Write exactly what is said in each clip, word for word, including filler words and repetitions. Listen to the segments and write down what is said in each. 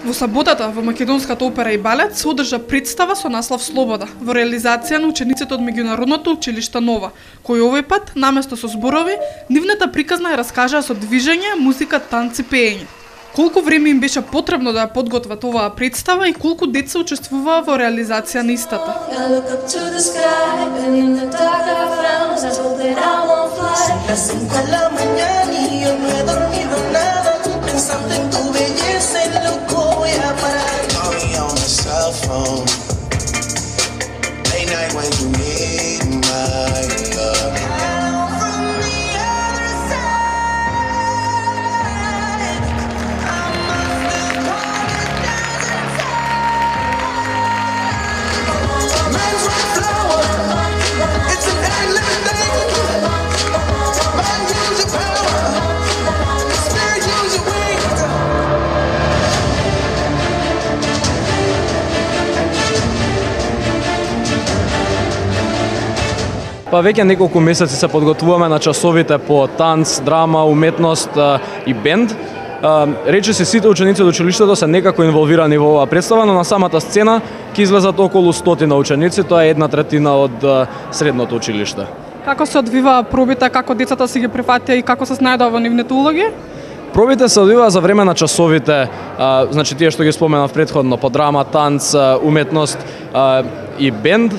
Во саботата во Македонската опера и балет се одржа представа со наслов Слобода во реализација на учениците од Меѓународното училиште Нова, кои овој пат наместо со зборови, нивната приказна ја раскажаа со движење, музика, танци, пеење. Колку време им беше потребно да ја подготват оваа представа и колку деца учествуваа во реализација на истата? Па веќе неколку месеци се подготвуваме на часовите по танц, драма, уметност и бенд. Речиси сите ученици од училиштето се некако инволвирани во оваа представа, но на самата сцена ќе излезат околу стотина ученици, тоа е една третина од средното училиште. Како се одвива пробите, како децата си ги прифатија и како се снајдоа во нивните улоги? Пробите се одвиваа за време на часовите, а, значи тие што ги споменав претходно, по драма, танц, уметност а, и бенд.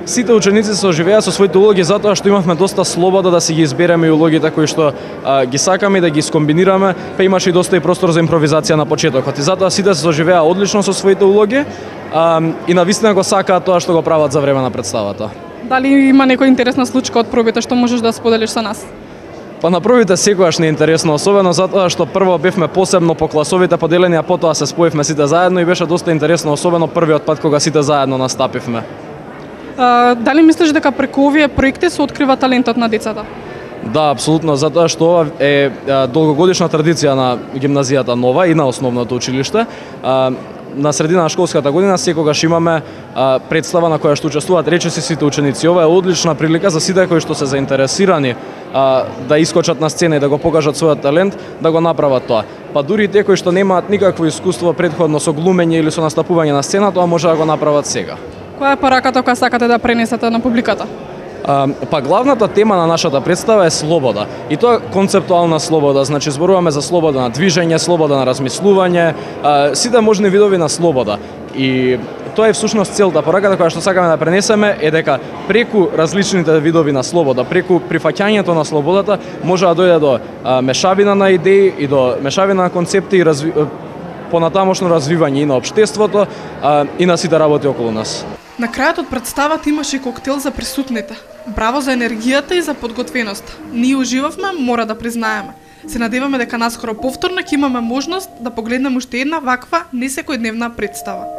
Сите ученици се оживеа со своите улоги затоа што имавме доста слобода да си ги избереме и улогите кои што а, ги сакаме да ги скомбинираме, па имаше и доста и простор за импровизација на почетокот. И затоа сите се оживеа одлично со своите улоги а, и навистина го сакаат тоа што го прават за време на представата. Дали има некоја интересна случка од пробите што можеш да споделиш со нас? Па на пробите секогаш не е интересно, особено затоа што прво бевме посебно по класовите поделени, а потоа се споивме сите заедно и беше доста интересно, особено првиот пат кога сите заедно настапивме. Uh, дали мислиш дека преку овие проекти се открива талентот на децата? Да, апсолутно, затоа што ова е, е долгогодишна традиција на гимназијата Нова и на основното училиште. А, на средина на школската година секогаш имаме а, представа на која што учествуваат речиси сите ученици. Ова е одлична прилика за сите кои што се заинтересирани а, да искочат на сцена и да го покажат својот талент, да го направат тоа. Па дури и тие кои што немаат никакво искуство претходно со глумење или со настапување на сцена, тоа може да го направат сега. Која е пораката која сакате да пренесете на публиката? А, па главната тема на нашата представа е слобода. И тоа концептуална слобода, значи зборуваме за слобода на движење, слобода на размислување, а, сите можни видови на слобода. И тоа е всушност целта, пораката која што сакаме да пренесеме е дека преку различните видови на слобода, преку прифаќањето на слободата може да дојде до а, мешавина на идеи и до мешавина на концепти и разви... понатамошно развивање и на општеството а, и на сите работи околу нас. На крајот од представата имаше и коктел за присутните. Браво за енергијата и за подготвеноста. Ние уживавме, мора да признаеме. Се надеваме дека наскоро повторно ќе имаме можност да погледнеме уште една ваква несекојдневна представа.